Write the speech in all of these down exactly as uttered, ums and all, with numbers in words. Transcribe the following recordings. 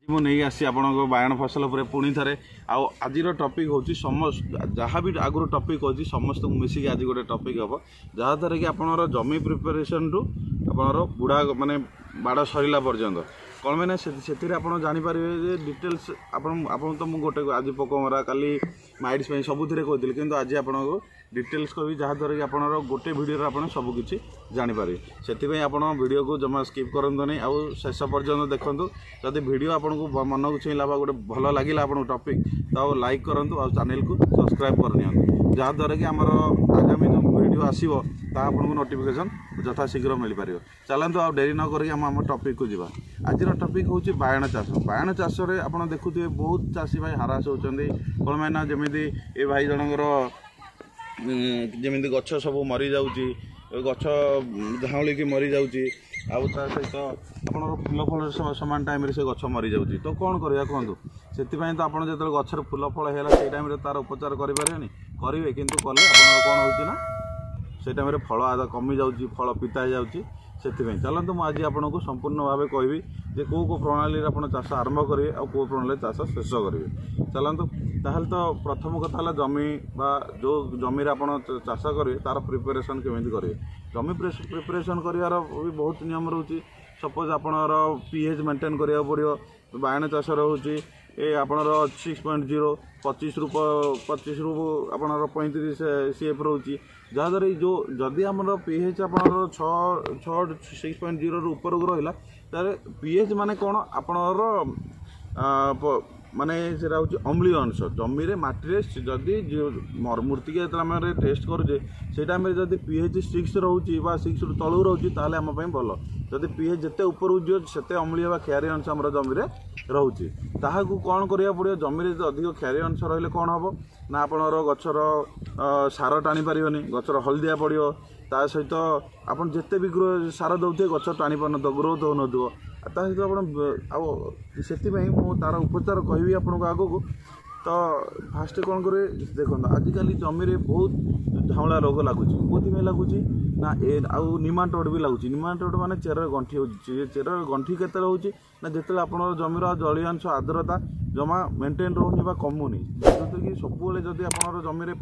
ମୁଁ ନେଇ ଆସିଛି ଆପଣଙ୍କ ବାଇଗଣ ଫସଲ ଉପରେ ପୁଣି ଥରେ। ଆଉ ଆଜିର ଟପିକ୍ ହେଉଛି ସମସ୍ତ, ଯାହା ବି ଆଗରୁ ଟପିକ୍ ଅଛି, ସମସ୍ତଙ୍କୁ ମିଶିକି ଆଜି ଗୋଟେ ଟପିକ୍ ହେବ, ଯାହାଦ୍ୱାରା କି ଆପଣଙ୍କର ଜମି ପ୍ରିପାରେସନ୍ଠୁ ଆପଣଙ୍କର ବୁଢ଼ା ମାନେ ବାଡ଼ ସରିଲା ପର୍ଯ୍ୟନ୍ତ କ'ଣ ମାନେ ସେଥିରେ ଆପଣ ଜାଣିପାରିବେ ଯେ ଡିଟେଲ୍ସ। ଆପଣ ଆପଣ ତ ମୁଁ ଗୋଟେ ଆଜି ପୋକ ମରା, କାଲି ମାଇଟ୍ସ ପାଇଁ ସବୁଥିରେ କହିଥିଲି, କିନ୍ତୁ ଆଜି ଆପଣଙ୍କୁ ଡିଟେଲ୍ସ କହିବି, ଯାହାଦ୍ୱାରା କି ଆପଣଙ୍କର ଗୋଟେ ଭିଡ଼ିଓରେ ଆପଣ ସବୁକିଛି ଜାଣିପାରିବେ। ସେଥିପାଇଁ ଆପଣ ଭିଡ଼ିଓକୁ ଜମା ସ୍କିପ୍ କରନ୍ତୁନି ଆଉ ଶେଷ ପର୍ଯ୍ୟନ୍ତ ଦେଖନ୍ତୁ। ଯଦି ଭିଡ଼ିଓ ଆପଣଙ୍କୁ ମନକୁ ଛୁଇଁଲା ବା ଗୋଟେ ଭଲ ଲାଗିଲା ଆପଣଙ୍କୁ ଟପିକ୍, ତ ଆଉ ଲାଇକ୍ କରନ୍ତୁ ଆଉ ଚ୍ୟାନେଲକୁ ସବସ୍କ୍ରାଇବ୍ କରିନିଅନ୍ତୁ, ଯାହାଦ୍ୱାରା କି ଆମର ଆଗାମୀ ଯେଉଁ ଭିଡ଼ିଓ ଆସିବ ତାହା ଆପଣଙ୍କୁ ନୋଟିଫିକେସନ୍ ଯଥାଶୀଘ୍ର ମିଳିପାରିବ। ଚାଲନ୍ତୁ, ଆଉ ଡେରି ନ କରିକି ଆମ ଆମ ଟପିକ୍କୁ ଯିବା। ଆଜିର ଟପିକ୍ ହେଉଛି ବାଇଗଣ ଚାଷ। ବାଇଗଣ ଚାଷରେ ଆପଣ ଦେଖୁଥିବେ ବହୁତ ଚାଷୀ ଭାଇ ହାରାସ ହେଉଛନ୍ତି। କ'ଣ ପାଇଁ ନା ଯେମିତି ଏ ଭାଇ ଜଣଙ୍କର ଯେମିତି ଗଛ ସବୁ ମରିଯାଉଛି, ଗଛ ଝାଉଁଳିକି ମରିଯାଉଛି, ଆଉ ତା ସହିତ ଆପଣଙ୍କର ଫୁଲ ଫଳ ସମାନ ଟାଇମ୍ରେ ସେ ଗଛ ମରିଯାଉଛି। ତ କ'ଣ କରିବା କୁହନ୍ତୁ? ସେଥିପାଇଁ ତ ଆପଣ ଯେତେବେଳେ ଗଛରେ ଫୁଲ ଫଳ ହେଲା, ସେଇ ଟାଇମ୍ରେ ତା'ର ଉପଚାର କରିପାରିବେନି? କରିବେ, କିନ୍ତୁ କଲେ ଆପଣଙ୍କର କ'ଣ ହେଉଛି ନା ସେଇ ଟାଇମ୍ରେ ଫଳ ଆଦ କମିଯାଉଛି, ଫଳ ପିତା ହେଇଯାଉଛି। ସେଥିପାଇଁ ଚାଲନ୍ତୁ, ମୁଁ ଆଜି ଆପଣଙ୍କୁ ସମ୍ପୂର୍ଣ୍ଣ ଭାବେ କହିବି ଯେ କେଉଁ କେଉଁ ପ୍ରଣାଳୀରେ ଆପଣ ଚାଷ ଆରମ୍ଭ କରିବେ ଆଉ କେଉଁ ପ୍ରଣାଳୀରେ ଚାଷ ଶେଷ କରିବେ। ଚାଲନ୍ତୁ ତାହେଲେ। ତ ପ୍ରଥମ କଥା ହେଲା ଜମି ବା ଯେଉଁ ଜମିରେ ଆପଣ ଚାଷ କରିବେ ତା'ର ପ୍ରିପାରେସନ୍ କେମିତି କରିବେ। ଜମି ପ୍ରିପାରେସନ୍ କରିବାର ବି ବହୁତ ନିୟମ ରହୁଛି। ସପୋଜ୍ ଆପଣଙ୍କର ପି ଏଚ୍ ମେଣ୍ଟେନ୍ କରିବାକୁ ପଡ଼ିବ। ବାଇଗଣ ଚାଷ ରହୁଛି ଏ ଆପଣଙ୍କର ସିକ୍ସ ପଏଣ୍ଟ ଜିରୋ, ପଚିଶରୁ ପଚିଶରୁ ଆପଣଙ୍କର ପଇଁତିରିଶ ସି ଏଫ୍ ରହୁଛି, ଯାହାଦ୍ୱାରା ଏଇ ଯେଉଁ ଯଦି ଆମର ପି ଏଚ୍ ଆପଣଙ୍କର ଛଅ ଛଅ ସିକ୍ସ ପଏଣ୍ଟ ଜିରୋରୁ ଉପରକୁ ରହିଲା, ତାହେଲେ ପି ଏଚ୍ ମାନେ କ'ଣ ଆପଣଙ୍କର ମାନେ ସେଇଟା ହେଉଛି ଅମ୍ଳୀୟ ଅଂଶ ଜମିରେ, ମାଟିରେ। ଯଦି ମୃତ୍ତିକା ଯେତେବେଳେ ଆମେ ଟେଷ୍ଟ କରୁଛେ, ସେଇ ଟାଇମ୍ରେ ଯଦି ପି ଏଚ୍ ସିକ୍ସ ରହୁଛି ବା ସିକ୍ସରୁ ତଳକୁ ରହୁଛି, ତାହେଲେ ଆମ ପାଇଁ ଭଲ। ଯଦି ପି ଏଚ୍ ଯେତେ ଉପରକୁ ଯିବ, ସେତେ ଅମ୍ଳୀୟ ବା କ୍ଷାରୀୟ ଅଂଶ ଆମର ଜମିରେ ରହୁଛି। ତାହାକୁ କ'ଣ କରିବାକୁ ପଡ଼ିବ? ଜମିରେ ଯଦି ଅଧିକ କ୍ଷାରୀୟ ଅଂଶ ରହିଲେ କ'ଣ ହେବ ନା ଆପଣଙ୍କର ଗଛର ସାର ଟାଣି ପାରିବନି, ଗଛର ହଳଦିଆ ପଡ଼ିବ। ତା ସହିତ ଆପଣ ଯେତେ ବି ଗ୍ରୋ ସାର ଦେଉଥିବେ, ଗଛ ଟାଣି ପାରୁନଥିବ, ଗ୍ରୋଥ୍ ହେଉନଥିବ। ତା ସହିତ ଆପଣ ଆଉ ସେଥିପାଇଁ ମୁଁ ତା'ର ଉପଚାର କହିବି ଆପଣଙ୍କୁ ଆଗକୁ। ତ ଫାଷ୍ଟ କ'ଣ କରିବେ ଦେଖନ୍ତୁ। ଆଜିକାଲି ଜମିରେ ବହୁତ ଝାଉଁଳା ରୋଗ ଲାଗୁଛି। କେଉଁଥିପାଇଁ ଲାଗୁଛି ନା ଏ ଆଉ ନିମାଟୋଡ଼ ବି ଲାଗୁଛି। ନିମାଟୋଡ଼ ମାନେ ଚେରରେ ଗଣ୍ଠି ହେଉଛି। ଚେରରେ ଗଣ୍ଠି କେତେବେଳେ ହେଉଛି ନା ଯେତେବେଳେ ଆପଣଙ୍କର ଜମିର ଜଳୀୟ ଅଂଶ, ଆର୍ଦ୍ରତା ଜମା ମେଣ୍ଟେନ୍ ରହୁନି ବା କମୁନି। ଯେଉଁଥିରେ କି ସବୁବେଳେ ଯଦି ଆପଣଙ୍କର ଜମିରେ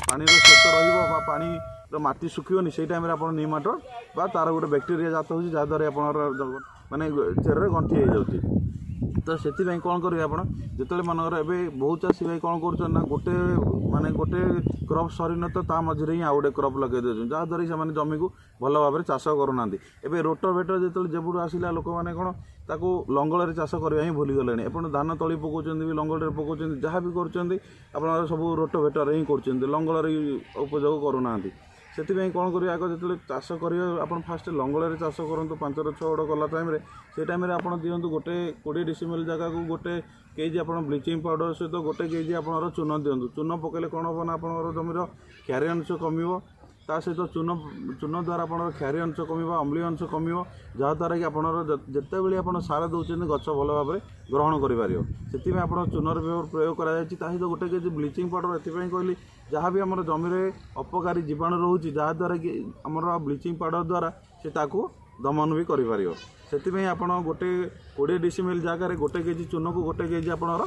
ପାଣିର ସ୍ରୋତ ରହିବ ବା ପାଣିର ମାଟି ଶୁଖିବନି, ସେଇ ଟାଇମ୍ରେ ଆପଣ ନିମାଟୋଡ଼ ବା ତା'ର ଗୋଟେ ବ୍ୟାକ୍ଟେରିଆ ଜାତ ହେଉଛି, ଯାହାଦ୍ୱାରା ଆପଣଙ୍କର ମାନେ ଚେରରେ ଗଣ୍ଠି ହେଇଯାଉଛି। ତ ସେଥିପାଇଁ କ'ଣ କରିବେ ଆପଣ? ଯେତେବେଳେ ମନେକର ଏବେ ବହୁତ ଚାଷୀ ଭାଇ କ'ଣ କରୁଛନ୍ତି ନା ଗୋଟେ ମାନେ ଗୋଟେ କ୍ରପ୍ ସରିନଥିବ, ତା ମଝିରେ ହିଁ ଆଉ ଗୋଟେ କ୍ରପ୍ ଲଗାଇ ଦେଉଛନ୍ତି, ଯାହାଦ୍ୱାରା କି ସେମାନେ ଜମିକୁ ଭଲ ଭାବରେ ଚାଷ କରୁନାହାନ୍ତି। ଏବେ ରୋଟୋଭେଟର ଯେତେବେଳେ ଯେବେଠୁ ଆସିଲା, ଲୋକମାନେ କ'ଣ ତାକୁ ଲଙ୍ଗଳରେ ଚାଷ କରିବା ହିଁ ଭୁଲିଗଲେଣି। ଆପଣ ଧାନ ତଳି ପକାଉଛନ୍ତି ବି ଲଙ୍ଗଳରେ ପକାଉଛନ୍ତି, ଯାହା ବି କରୁଛନ୍ତି ଆପଣଙ୍କର ସବୁ ରୋଟୋଭେଟରରେ ହିଁ କରୁଛନ୍ତି, ଲଙ୍ଗଳରେ ଉପଯୋଗ କରୁନାହାନ୍ତି। ସେଥିପାଇଁ କ'ଣ କରିବେ ଆଗ? ଯେତେବେଳେ ଚାଷ କରିବେ ଆପଣ ଫାଷ୍ଟ ଲଙ୍ଗଳରେ ଚାଷ କରନ୍ତୁ। ପାଞ୍ଚରୁ ଛଅ ଗଡ଼ କଲା ଟାଇମ୍ରେ, ସେଇ ଟାଇମ୍ରେ ଆପଣ ଦିଅନ୍ତୁ ଗୋଟେ କୋଡ଼ିଏ ଡିସିମିଲ୍ ଜାଗାକୁ ଗୋଟେ କେଜି ଆପଣ ବ୍ଲିଚିଂ ପାଉଡ଼ର ସହିତ ଗୋଟେ କେଜି ଆପଣଙ୍କର ଚୂନ ଦିଅନ୍ତୁ। ଚୂନ ପକାଇଲେ କ'ଣ ହେବ ନା ଆପଣଙ୍କର ଜମିର କ୍ଷାରୀୟ ଅଂଶ କମିବ। ତା ସହିତ ଚୂନ ଚୂନ ଦ୍ୱାରା ଆପଣଙ୍କର କ୍ଷାରୀୟ ଅଂଶ କମିବ, ଅମ୍ଳୀୟ ଅଂଶ କମିବ, ଯାହାଦ୍ୱାରା କି ଆପଣଙ୍କର ଯେତେବେଳେ ଆପଣ ସାର ଦେଉଛନ୍ତି, ଗଛ ଭଲ ଭାବରେ ଗ୍ରହଣ କରିପାରିବ। ସେଥିପାଇଁ ଆପଣ ଚୂନର ପ୍ରୟୋଗ କରାଯାଇଛି। ତା ସହିତ ଗୋଟେ କେଜି ବ୍ଲିଚିଂ ପାଉଡ଼ର ଏଥିପାଇଁ କହିଲି, ଯାହା ବି ଆମର ଜମିରେ ଅପକାରୀ ଜୀବାଣୁ ରହୁଛି, ଯାହାଦ୍ୱାରା କି ଆମର ବ୍ଲିଚିଂ ପାଉଡ଼ର ଦ୍ୱାରା ସେ ତାକୁ ଦମନ ବି କରିପାରିବ। ସେଥିପାଇଁ ଆପଣ ଗୋଟେ କୋଡ଼ିଏ ଡିସିମିଲ୍ ଜାଗାରେ ଗୋଟେ କେଜି ଚୂନକୁ ଗୋଟେ କେଜି ଆପଣଙ୍କର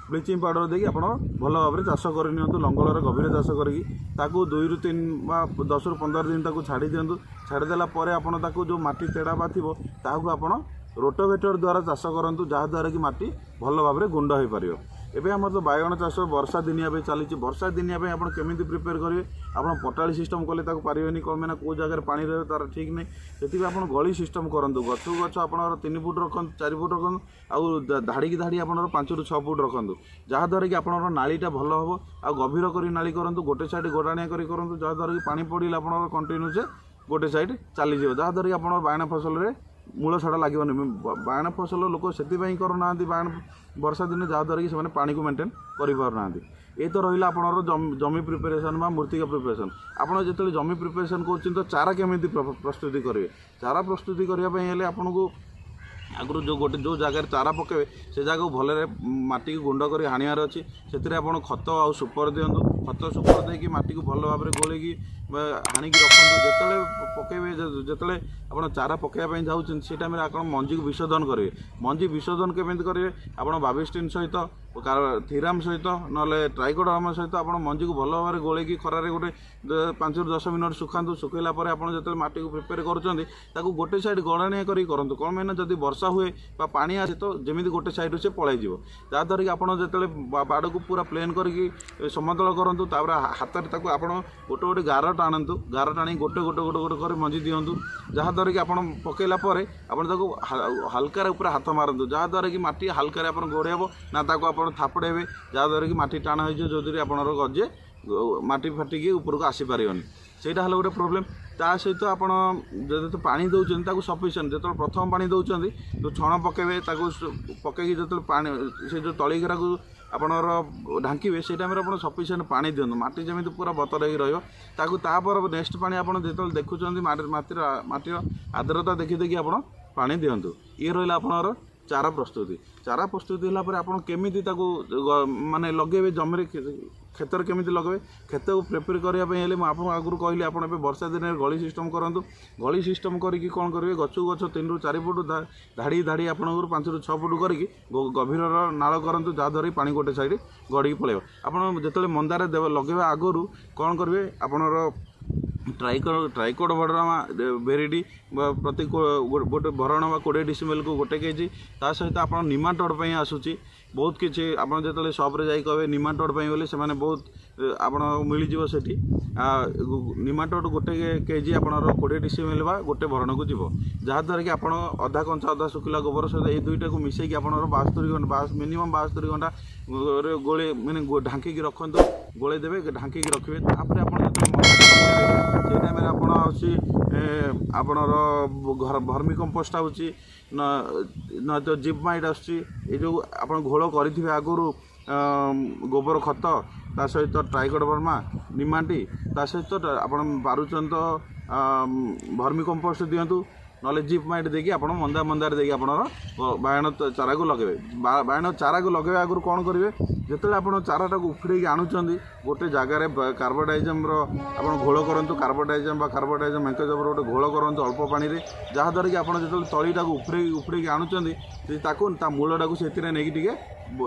ବ୍ଲିଚିଂ ପାଉଡ଼ର ଦେଇକି ଆପଣ ଭଲ ଭାବରେ ଚାଷ କରିନିଅନ୍ତୁ। ଲଙ୍ଗଳରେ ଗଭୀର ଚାଷ କରିକି ତାକୁ ଦୁଇରୁ ତିନି ବା ଦଶରୁ ପନ୍ଦର ଦିନ ତାକୁ ଛାଡ଼ି ଦିଅନ୍ତୁ। ଛାଡ଼ିଦେଲା ପରେ ଆପଣ ତାକୁ ଯେଉଁ ମାଟି ତେଡ଼ା ବା ଥିବ, ତାହାକୁ ଆପଣ ରୋଟୋଭେଟର ଦ୍ୱାରା ଚାଷ କରନ୍ତୁ, ଯାହାଦ୍ୱାରା କି ମାଟି ଭଲ ଭାବରେ ଗୁଣ୍ଡ ହୋଇପାରିବ। ଏବେ ଆମର ତ ବାଇଗଣ ଚାଷ ବର୍ଷା ଦିନିଆ ପାଇଁ ଚାଲିଛି। ବର୍ଷା ଦିନିଆ ପାଇଁ ଆପଣ କେମିତି ପ୍ରିପେୟାର କରିବେ? ଆପଣ ପଟାଳି ସିଷ୍ଟମ୍ କଲେ ତାକୁ ପାରିବେନି। କ'ଣ ପାଇଁ ନା କେଉଁ ଜାଗାରେ ପାଣି ରହିବ ତା'ର ଠିକ୍ ନାହିଁ। ସେଥିପାଇଁ ଆପଣ ଗଳି ସିଷ୍ଟମ୍ କରନ୍ତୁ। ଗଛକୁ ଗଛ ଆପଣଙ୍କର ତିନି ଫୁଟ ରଖନ୍ତୁ, ଚାରି ଫୁଟ ରଖନ୍ତୁ, ଆଉ ଧାଡ଼ିକି ଧାଡ଼ି ଆପଣଙ୍କର ପାଞ୍ଚରୁ ଛଅ ଫୁଟ ରଖନ୍ତୁ, ଯାହାଦ୍ୱାରା କି ଆପଣଙ୍କର ନାଳିଟା ଭଲ ହେବ। ଆଉ ଗଭୀର କରି ନାଳି କରନ୍ତୁ, ଗୋଟେ ସାଇଡ଼୍ ଗୋଡ଼ାଣିଆ କରି କରନ୍ତୁ, ଯାହାଦ୍ୱାରା କି ପାଣି ପଡ଼ିଲେ ଆପଣଙ୍କର କଣ୍ଟିନ୍ୟୁସ୍ ଗୋଟେ ସାଇଡ଼୍ ଚାଲିଯିବ, ଯାହାଦ୍ୱାରା କି ଆପଣଙ୍କ ବାଇଗଣ ଫସଲରେ ମୂଳ ସଡ଼ା ଲାଗିବନି। ବାଇଗଣ ଫସଲ ଲୋକ ସେଥିପାଇଁ କରୁନାହାନ୍ତି ବାଇଗଣ ବର୍ଷା ଦିନେ, ଯାହାଦ୍ୱାରା କି ସେମାନେ ପାଣିକୁ ମେଣ୍ଟେନ୍ କରିପାରୁନାହାନ୍ତି। ଏ ତ ରହିଲା ଆପଣଙ୍କର ଜମି ପ୍ରିପାରେସନ୍ ବା ମୃତ୍ତିକା ପ୍ରିପାରେସନ୍। ଆପଣ ଯେତେବେଳେ ଜମି ପ୍ରିପାରେସନ୍ କରୁଛନ୍ତି, ତ ଚାରା କେମିତି ପ୍ରସ୍ତୁତି କରିବେ? ଚାରା ପ୍ରସ୍ତୁତି କରିବା ପାଇଁ ହେଲେ ଆପଣଙ୍କୁ ଆଗରୁ ଯେଉଁ ଗୋଟେ ଯେଉଁ ଜାଗାରେ ଚାରା ପକାଇବେ, ସେ ଜାଗାକୁ ଭଲରେ ମାଟିକୁ ଗୁଣ୍ଡ କରି ହାଣିବାର ଅଛି। ସେଥିରେ ଆପଣ ଖତ ଆଉ ସୁପର ଦିଅନ୍ତୁ। ଖତ ସୁପର ଦେଇକି ମାଟିକୁ ଭଲ ଭାବରେ ଗୋଳେଇକି ବା ହାଣିକି ରଖନ୍ତୁ। ଯେତେବେଳେ ପକେଇବେ, ଯେତେବେଳେ ଆପଣ ଚାରା ପକାଇବା ପାଇଁ ଯାଉଛନ୍ତି, ସେ ଟାଇମ୍ରେ ଆପଣ ମଞ୍ଜିକୁ ବିଶୋଧନ କରିବେ। ମଞ୍ଜି ବିଶୋଧନ କେମିତି କରିବେ? ଆପଣ ବାବିଷ୍ଟିନ୍ ସହିତ, ଥିରାମ ସହିତ, ନହେଲେ ଟ୍ରାଇକୋଡର୍ମା ସହିତ ଆପଣ ମଞ୍ଜିକୁ ଭଲ ଭାବରେ ଗୋଳେଇକି ଖରାରେ ଗୋଟେ ପାଞ୍ଚରୁ ଦଶ ମିନିଟ୍ ଶୁଖାନ୍ତୁ। ଶୁଖେଇଲା ପରେ ଆପଣ ଯେତେବେଳେ ମାଟିକୁ ପ୍ରିପେୟାର କରୁଛନ୍ତି, ତାକୁ ଗୋଟେ ସାଇଡ଼୍ ଗଡ଼ାଣିଆ କରିକି କରନ୍ତୁ। କ'ଣ ପାଇଁ ନା ଯଦି ବର୍ଷା ହୁଏ ବା ପାଣି ଆସେ ତ ଯେମିତି ଗୋଟେ ସାଇଡ଼୍ରୁ ସେ ପଳାଇଯିବ। ଯାହାଦ୍ୱାରା କି ଆପଣ ଯେତେବେଳେ ବାଡ଼କୁ ପୁରା ପ୍ଲେନ୍ କରିକି ସମତଳ କରନ୍ତୁ, ତାପରେ ହାତରେ ତାକୁ ଆପଣ ଗୋଟେ ଗୋଟେ ଗାର ଟାଣନ୍ତୁ। ଗାର ଟାଣି ଗୋଟେ ଗୋଟେ ଗୋଟେ ଗୋଟେ କରି ମଞ୍ଜି ଦିଅନ୍ତୁ, ଯାହାଦ୍ୱାରା କି ଆପଣ ପକାଇଲା ପରେ ଆପଣ ତାକୁ ହାଲକାରେ ଉପରେ ହାତ ମାରନ୍ତୁ, ଯାହାଦ୍ୱାରା କି ମାଟି ହାଲକାରେ ଆପଣ ଗୋଡ଼େଇ ହେବ ନା ତାକୁ ଆପଣ ଥାପଡ଼େଇବେ, ଯାହାଦ୍ୱାରା କି ମାଟି ଟାଣ ହେଇଯିବ, ଯେଉଁଥିରେ ଆପଣଙ୍କର ଗଜେ ମାଟି ଫାଟିକି ଉପରକୁ ଆସିପାରିବନି। ସେଇଟା ହେଲା ଗୋଟେ ପ୍ରୋବ୍ଲେମ୍। ତା ସହିତ ଆପଣ ଯଦି ପାଣି ଦେଉଛନ୍ତି, ତାକୁ ସଫିସିଏଣ୍ଟ, ଯେତେବେଳେ ପ୍ରଥମ ପାଣି ଦେଉଛନ୍ତି, ଯେଉଁ ଛଣ ପକାଇବେ, ତାକୁ ପକାଇକି ଯେତେବେଳେ ପାଣି ସେ ଯେଉଁ ତଳି ଘେରାକୁ ଆପଣଙ୍କର ଢାଙ୍କିବେ, ସେଇ ଟାଇମ୍ରେ ଆପଣ ସଫିସିଏଣ୍ଟ ପାଣି ଦିଅନ୍ତୁ, ମାଟି ଯେମିତି ପୁରା ବତର ହେଇକି ରହିବ ତାକୁ। ତାପରେ ନେକ୍ସଟ ପାଣି ଆପଣ ଯେତେବେଳେ ଦେଖୁଛନ୍ତି, ମାଟିର ମାଟିର ଆର୍ଦ୍ରତା ଦେଖି ଦେଖି ଆପଣ ପାଣି ଦିଅନ୍ତୁ। ଇଏ ରହିଲା ଆପଣଙ୍କର ଚାରା ପ୍ରସ୍ତୁତି। ଚାରା ପ୍ରସ୍ତୁତି ହେଲା ପରେ ଆପଣ କେମିତି ତାକୁ ମାନେ ଲଗେଇବେ ଜମିରେ, କ୍ଷେତରେ କେମିତି ଲଗେଇବେ? କ୍ଷେତକୁ ପ୍ରିପେୟାର କରିବା ପାଇଁ ହେଲେ ମୁଁ ଆପଣଙ୍କୁ ଆଗରୁ କହିଲି, ଆପଣ ଏବେ ବର୍ଷା ଦିନରେ ଗଳି ସିଷ୍ଟମ୍ କରନ୍ତୁ। ଗଳି ସିଷ୍ଟମ୍ କରିକି କ'ଣ କରିବେ? ଗଛକୁ ଗଛ ତିନିରୁ ଚାରି ଫୁଟ ଧାଡ଼ି ଧାଡ଼ି ଆପଣଙ୍କର ପାଞ୍ଚରୁ ଛଅ ଫୁଟ କରିକି ଗଭୀରର ନାଳ କରନ୍ତୁ, ଯାହାଦ୍ୱାରା କି ପାଣି ଗୋଟେ ସାଇଡ଼୍ ଗଡ଼ିକି ପଳାଇବ। ଆପଣ ଯେତେବେଳେ ମନ୍ଦାରେ ଲଗେଇବା ଆଗରୁ କ'ଣ କରିବେ? ଆପଣଙ୍କର ଟ୍ରାଇକୋ ଟ୍ରାଇକୋଡର୍ମା ଭେରିଡି ପ୍ରତି ଗୋଟେ ଭରଣ ବା କୋଡ଼ିଏ ଡିସିମେଲକୁ ଗୋଟେ କେଜି। ତା ସହିତ ଆପଣ ନିମାଟୋଡ଼ ପାଇଁ ଆସୁଛି ବହୁତ କିଛି। ଆପଣ ଯେତେବେଳେ ସପ୍ରେ ଯାଇ କହିବେ ନିମାଟୋଡ଼ ପାଇଁ ବୋଲି, ସେମାନେ ବହୁତ ଆପଣ ମିଳିଯିବ ସେଠି। ନିମାଟୋଡ଼ ଗୋଟେ କେଜି ଆପଣଙ୍କର କୋଡ଼ିଏ ଡିସିମେଲ ବା ଗୋଟେ ଭରଣକୁ ଯିବ, ଯାହାଦ୍ୱାରା କି ଆପଣ ଅଧା କଞ୍ଚା ଅଧା ଶୁଖିଲା ଗୋବର ସହିତ ଏଇ ଦୁଇଟାକୁ ମିଶାଇକି ଆପଣଙ୍କର ବାସ୍ତରି ଘଣ୍ଟା, ମିନିମମ୍ ବାସ୍ତରି ଘଣ୍ଟା ଗୋଳେଇ ମାନେ ଢାଙ୍କିକି ରଖନ୍ତୁ। ଗୋଳେଇ ଦେବେ, ଢାଙ୍କିକି ରଖିବେ। ତାପରେ ଆପଣ ଯେତେବେଳେ ସେଇ ଟାଇମ୍ରେ ଆପଣ ଆସୁଛି ଆପଣଙ୍କର ଘର ଭର୍ମି କମ୍ପୋଷ୍ଟ ଆସୁଛି, ନହେଲେ ଜିପ୍ ମାଇଟ୍ ଆସୁଛି। ଏଇ ଯେଉଁ ଆପଣ ଘୋଳ କରିଥିବେ ଆଗରୁ ଗୋବର ଖତ, ତା ସହିତ ଟ୍ରାଇକୋଡର୍ମା ନିମାଟି, ତା ସହିତ ଆପଣ ପାରୁଛନ୍ତି ତ ଭର୍ମି କମ୍ପୋଷ୍ଟ ଦିଅନ୍ତୁ, ନହେଲେ ଜିପ୍ ମାଇଟ୍ ଦେଇକି ଆପଣ ମନ୍ଦା ମନ୍ଦାରେ ଦେଇକି ଆପଣଙ୍କର ବାଇଗଣ ଚାରାକୁ ଲଗାଇବେ। ବାଇଗଣ ଚାରାକୁ ଲଗାଇବା ଆଗରୁ କ'ଣ କରିବେ? ଯେତେବେଳେ ଆପଣ ଚାରାଟାକୁ ଉଖୁଡ଼େଇକି ଆଣୁଛନ୍ତି, ଗୋଟେ ଜାଗାରେ କାର୍ବୋଡାଇଜମ୍ର ଆପଣ ଘୋଳ କରନ୍ତୁ। କାର୍ବୋଡାଇଜମ୍ ବା କାର୍ବୋଡାଇଜମ୍ ମେଙ୍କୋଜେବ୍ର ଗୋଟେ ଘୋଳ କରନ୍ତୁ ଅଳ୍ପ ପାଣିରେ, ଯାହାଦ୍ୱାରା କି ଆପଣ ଯେତେବେଳେ ତଳିଟାକୁ ଉଖୁଡ଼େଇକି ଉଖୁଡ଼େଇକି ଆଣୁଛନ୍ତି, ତାକୁ ତା ମୂଳଟାକୁ ସେଥିରେ ନେଇକି ଟିକେ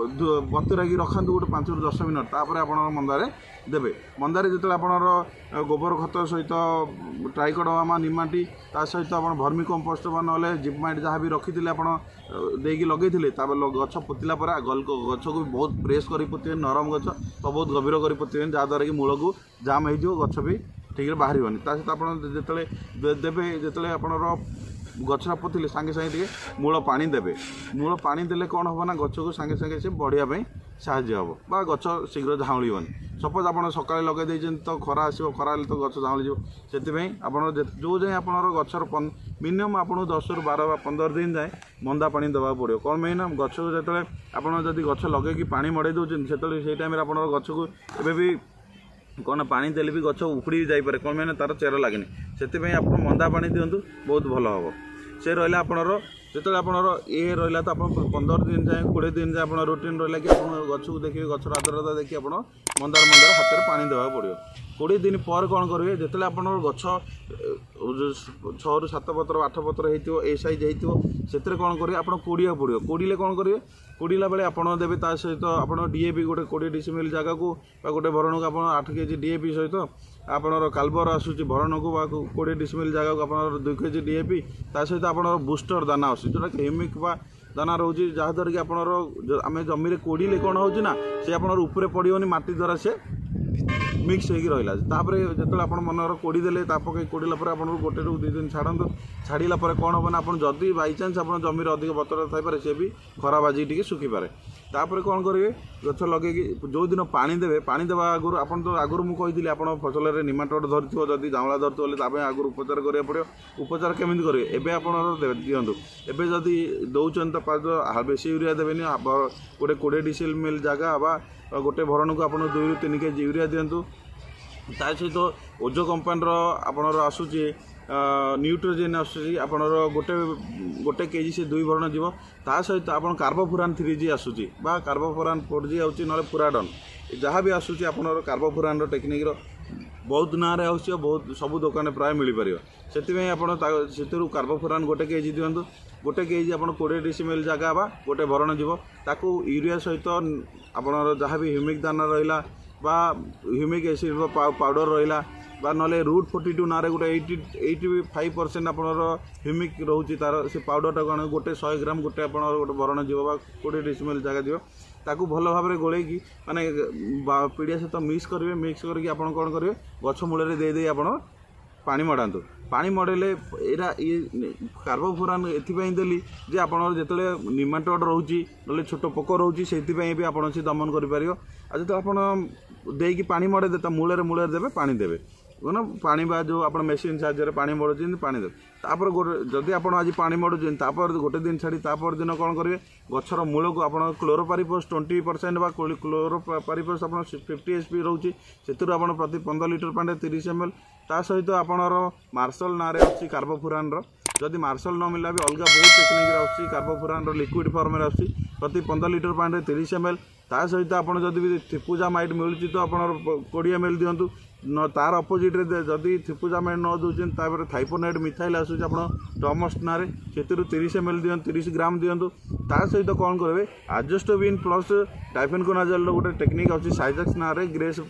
ବତୁରାଇକି ରଖନ୍ତୁ ଗୋଟେ ପାଞ୍ଚରୁ ଦଶ ମିନିଟ୍। ତାପରେ ଆପଣ ମନ୍ଦାରେ ଦେବେ। ମନ୍ଦାରେ ଯେତେବେଳେ ଆପଣଙ୍କର ଗୋବର ଖତ ସହିତ ଟ୍ରାଇକୋଡର୍ମା ନିମାଟି, ତା ସହିତ ଆପଣ ଭର୍ମି କମ୍ପୋଷ୍ଟ ବା ନହେଲେ ଜିପମାଇଟ୍ ଯାହା ବି ରଖିଥିଲେ ଆପଣ ଦେଇକି ଲଗେଇଥିଲେ, ତାପରେ ଗଛ ପୋତିଲା ପରେ ଗଛକୁ ବହୁତ ପ୍ରେସ୍ କରି ପୋତିବେନି, ନରମ ଗଛ ତ ବହୁତ ଗଭୀର କରି ପୋତିବେନି, ଯାହାଦ୍ୱାରା କି ମୂଳକୁ ଜାମ୍ ହେଇଯିବ, ଗଛ ବି ଠିକ୍ରେ ବାହାରିବନି। ତା ସହିତ ଆପଣ ଯେତେବେଳେ ଦେବେ, ଯେତେବେଳେ ଆପଣଙ୍କର ଗଛଟା ପୋତିଲେ ସାଙ୍ଗେ ସାଙ୍ଗେ ଟିକେ ମୂଳ ପାଣି ଦେବେ। ମୂଳ ପାଣି ଦେଲେ କ'ଣ ହେବ ନା ଗଛକୁ ସାଙ୍ଗେ ସାଙ୍ଗେ ସେ ବଢ଼ିବା ପାଇଁ ସାହାଯ୍ୟ ହେବ ବା ଗଛ ଶୀଘ୍ର ଝାଉଁଳିବନି। ସପୋଜ୍ ଆପଣ ସକାଳେ ଲଗାଇ ଦେଇଛନ୍ତି ତ ଖରା ଆସିବ, ଖରା ହେଲେ ତ ଗଛ ଝାଉଁଳିଯିବ। ସେଥିପାଇଁ ଆପଣ ଯେଉଁ ଯାଏଁ ଆପଣଙ୍କର ଗଛର ମିନିମମ୍ ଆପଣଙ୍କୁ ଦଶରୁ ବାର ବା ପନ୍ଦର ଦିନ ଯାଏଁ ମନ୍ଦା ପାଣି ଦେବାକୁ ପଡ଼ିବ। କ'ଣ ପାଇଁ ନା ଗଛକୁ ଯେତେବେଳେ ଆପଣ ଯଦି ଗଛ ଲଗେଇକି ପାଣି ମଡ଼େଇ ଦେଉଛନ୍ତି, ସେତେବେଳେ ସେଇ ଟାଇମ୍ରେ ଆପଣଙ୍କର ଗଛକୁ ଏବେ ବି କ'ଣ ପାଣି ଦେଲେ ବି ଗଛ ଉପୁଡ଼ି ବି ଯାଇପାରେ। କ'ଣ ପାଇଁ ନା ତା'ର ଚେର ଲାଗେନି। ସେଥିପାଇଁ ଆପଣ ମନ୍ଦା ପାଣି ଦିଅନ୍ତୁ, ବହୁତ ଭଲ ହେବ। ସେ ରହିଲା ଆପଣଙ୍କର ଯେତେବେଳେ ଆପଣଙ୍କର ଇଏ ରହିଲା ତ ଆପଣ ପନ୍ଦର ଦିନ ଯାଏଁ, କୋଡ଼ିଏ ଦିନ ଯାଏଁ ଆପଣ ରୁଟିନ୍ ରହିଲା କି ଆପଣ ଗଛକୁ ଦେଖିବେ, ଗଛର ଆର୍ଦ୍ରତା ଦେଖି ଆପଣ ମନ୍ଦାର ମନ୍ଦାର ହାତରେ ପାଣି ଦେବାକୁ ପଡ଼ିବ। କୋଡ଼ିଏ ଦିନ ପରେ କ'ଣ କରିବେ? ଯେତେବେଳେ ଆପଣଙ୍କର ଗଛ ଛଅରୁ ସାତ ପତ୍ର, ଆଠ ପତ୍ର ହେଇଥିବ, ଏ ସାଇଜ୍ ହେଇଥିବ, ସେଥିରେ କ'ଣ କରିବେ? ଆପଣ କୋଡ଼ିବାକୁ ପଡ଼ିବ। କୋଡ଼ିଲେ କ'ଣ କରିବେ? କୋଡ଼ିଲା ବେଳେ ଆପଣ ଦେବେ ତା ସହିତ ଆପଣ ଡି ଏ ପି ଗୋଟେ କୋଡ଼ିଏ ଡିସିମିଲ୍ ଜାଗାକୁ ବା ଗୋଟେ ଭରଣକୁ ଆପଣ ଆଠ କେଜି ଡି ଏ ପି ସହିତ ଆପଣଙ୍କର କାଲବର ଆସୁଛି, ଭରଣକୁ ବା କୋଡ଼ିଏ ଡିସିମିଲ୍ ଜାଗାକୁ ଆପଣଙ୍କର ଦୁଇ କେଜି ଡି ଏ ପି, ତା ସହିତ ଆପଣଙ୍କର ବୁଷ୍ଟର ଦାନା ଆସୁଛି, ଯେଉଁଟାକି ହ୍ୟୁମିକ୍ ବା ଦାନା ରହୁଛି, ଯାହାଦ୍ୱାରା କି ଆପଣଙ୍କର ଆମେ ଜମିରେ କୋଡ଼ିଲେ କ'ଣ ହେଉଛି ନା ସେ ଆପଣଙ୍କର ଉପରେ ପଡ଼ିବନି, ମାଟି ଦ୍ୱାରା ସେ ମିକ୍ସ ହେଇକି ରହିଲା। ତାପରେ ଯେତେବେଳେ ଆପଣ ମନେକର କୋଡ଼ି ଦେଲେ, ତା ପକାଇ କୋଡ଼ିଲା ପରେ ଆପଣଙ୍କୁ ଗୋଟେରୁ ଦୁଇ ଦିନ ଛାଡ଼ନ୍ତୁ। ଛାଡ଼ିଲା ପରେ କ'ଣ ହେବ ନା ଆପଣ ଯଦି ବାଇଚାନ୍ସ ଆପଣ ଜମିରେ ଅଧିକ ବତର ଥାଇପାରେ, ସେ ବି ଖରା ବାଜିକି ଟିକେ ଶୁଖିପାରେ। ତାପରେ କ'ଣ କରିବେ? ଗଛ ଲଗେଇକି ଯେଉଁଦିନ ପାଣି ଦେବେ, ପାଣି ଦେବା ଆଗରୁ ଆପଣ ତ ଆଗରୁ ମୁଁ କହିଥିଲି, ଆପଣ ଫସଲରେ ନିମାଟୋଡ଼ ଧରିଥିବ, ଯଦି ଝାଉଁଳା ଧରିଥିବ ହେଲେ ତା ପାଇଁ ଆଗରୁ ଉପଚାର କରିବାକୁ ପଡ଼ିବ। ଉପଚାର କେମିତି କରିବେ? ଏବେ ଆପଣଙ୍କର ଦିଅନ୍ତୁ। ଏବେ ଯଦି ଦେଉଛନ୍ତି ତ ବେଶୀ ୟୁରିଆ ଦେବେନି। ଗୋଟେ କୋଡ଼ିଏ ଡିସିମିଲ୍ ଜାଗା ବା ଗୋଟେ ଭରଣକୁ ଆପଣ ଦୁଇରୁ ତିନି କେଜି ୟୁରିଆ ଦିଅନ୍ତୁ। ତା ସହିତ ଓଜୋ କମ୍ପାନୀର ଆପଣଙ୍କର ଆସୁଛି ନ୍ୟୁଟ୍ରୋଜେନ୍ ଆସୁଛି ଆପଣଙ୍କର ଗୋଟେ ଗୋଟେ କେଜି ସେ ଦୁଇ ଭରଣ ଯିବ ତା ସହିତ ଆପଣ କାର୍ବୋଫୁରାନ୍ ଥ୍ରୀ ଜି ଆସୁଛି ବା କାର୍ବୋଫୁରାନ୍ ଫୋର୍ ଜି ଆସୁଛି ନହେଲେ ଫୁରାଡନ୍ ଯାହା ବି ଆସୁଛି ଆପଣଙ୍କର କାର୍ବୋଫୁରାନ୍ର ଟେକ୍ନିକ୍ର ବହୁତ ନାଁରେ ଆସୁଛି ଆଉ ବହୁତ ସବୁ ଦୋକାନରେ ପ୍ରାୟ ମିଳିପାରିବ ସେଥିପାଇଁ ଆପଣ ସେଥିରୁ କାର୍ବୋଫୁରାନ୍ ଗୋଟେ କେଜି ଦିଅନ୍ତୁ ଗୋଟେ କେଜି ଆପଣ କୋଡ଼ିଏ ଡିସିମିଲ୍ ଜାଗା ବା ଗୋଟେ ଭରଣ ଯିବ ତାକୁ ୟୁରିଆ ସହିତ ଆପଣଙ୍କର ଯାହା ବି ହ୍ୟୁମିକ୍ ଦାନା ରହିଲା ବା ହ୍ୟୁମିକ୍ ଏସିଡ୍ ପାଉଡ଼ର ରହିଲା ବା ନହେଲେ ରୁଟ୍ ଫୋର୍ଟି ଟୁ ନାଁରେ ଗୋଟେ ଏଇଟି ଏଇଟି ଫାଇଭ୍ ପରସେଣ୍ଟ ଆପଣଙ୍କର ହ୍ୟୁମିକ୍ ରହୁଛି ତାର ସେ ପାଉଡ଼ରଟାକୁ ଆଣ ଗୋଟେ ଶହେ ଗ୍ରାମ ଗୋଟେ ଆପଣଙ୍କର ଗୋଟେ ଭରଣ ଯିବ ବା କୋଡ଼ିଏ ଡିସିମିଲ୍ ଜାଗା ଯିବ ତାକୁ ଭଲ ଭାବରେ ଗୋଳେଇକି ମାନେ ପିଡ଼ିଆ ସହିତ ମିକ୍ସ କରିବେ ମିକ୍ସ କରିକି ଆପଣ କ'ଣ କରିବେ ଗଛ ମୂଳରେ ଦେଇ ଦେଇ ଆପଣ ପାଣି ମଡ଼ାନ୍ତୁ ପାଣି ମଡ଼େଇଲେ ଏଇଟା ଇଏ କାର୍ବୋଫୁରାନ୍ ଏଥିପାଇଁ ଦେଲି ଯେ ଆପଣଙ୍କର ଯେତେବେଳେ ନିମାଟୋଡ଼ ରହୁଛି ନହେଲେ ଛୋଟ ପୋକ ରହୁଛି ସେଇଥିପାଇଁ ବି ଆପଣ ସେ ଦମନ କରିପାରିବ ଆଉ ଯେତେବେଳେ ଆପଣ ଦେଇକି ପାଣି ମଡ଼େଇଦେବେ ତା ମୂଳରେ ମୂଳରେ ଦେବେ ପାଣି ଦେବେ ମାନେ ପାଣି ବା ଯେଉଁ ଆପଣ ମେସିନ୍ ସାହାଯ୍ୟରେ ପାଣି ମଡ଼ୁଛନ୍ତି ପାଣି ଦେବେ ତାପରେ ଗୋଟେ ଯଦି ଆପଣ ଆଜି ପାଣି ମଡ଼ୁଛନ୍ତି ତାପରେ ଗୋଟେ ଦିନ ଛାଡ଼ି ତାପର ଦିନ କ'ଣ କରିବେ ଗଛର ମୂଳକୁ ଆପଣ କ୍ଲୋରୋପାରିଫସ୍ ଟ୍ୱେଣ୍ଟି ପରସେଣ୍ଟ ବା କ୍ଲୋରୋପାରିଫସ୍ ଆପଣ ଫିଫ୍ଟି ଏଚ୍ ପି ରହୁଛି ସେଥିରୁ ଆପଣ ପ୍ରତି ପନ୍ଦର ଲିଟର ପାଣିରେ ତିରିଶ ଏମ୍ ଏଲ୍ ତା ସହିତ ଆପଣଙ୍କର ମାର୍ଶଲ ନାଁରେ ଆସୁଛି କାର୍ବୋଫୁରାନ୍ର ଯଦି ମାର୍ଶଲ ନ ମିଳିଲା ବି ଅଲଗା ବହୁତ ଟେକ୍ନିକ୍ରେ ଆସୁଛି କାର୍ବୋଫୁରାନ୍ର ଲିକ୍ୱିଡ଼ ଫର୍ମରେ ଆସୁଛି ପ୍ରତି ପନ୍ଦର ଲିଟର ପାଣିରେ ତିରିଶ ଏମ୍ ଏଲ୍ ତା ସହିତ ଆପଣ ଯଦି ବି ଥିପୁଜାମାଇଟ୍ ମିଳୁଛି ତ ଆପଣ କୋଡ଼ିଏ ଏମ୍ ଏଲ୍ ଦିଅନ୍ତୁ ନ ତାର ଅପୋଜିଟ୍ରେ ଯଦି ଥିପୁଜାମାଇଟ୍ ନ ଦେଉଛନ୍ତି ତାପରେ ଥାଇପୋନାଇଟ୍ ମିଥାଇଲ୍ ଆସୁଛି ଆପଣ ଟମଷ୍ଟ ନାଁରେ ସେଥିରୁ ତିରିଶ ଏମ୍ ଏଲ୍ ଦିଅନ୍ତୁ ତିରିଶ ଗ୍ରାମ ଦିଅନ୍ତୁ ତା ସହିତ କ'ଣ କରିବେ ଆଜୋଷ୍ଟୋବିନ୍ ପ୍ଲସ୍ ଡାଇଫେନକୋନାଜଲର ଗୋଟେ ଟେକ୍ନିକ୍ ଆସୁଛି ସାଇଜକ୍ସ ନାଁରେ ଗ୍ରେସ୍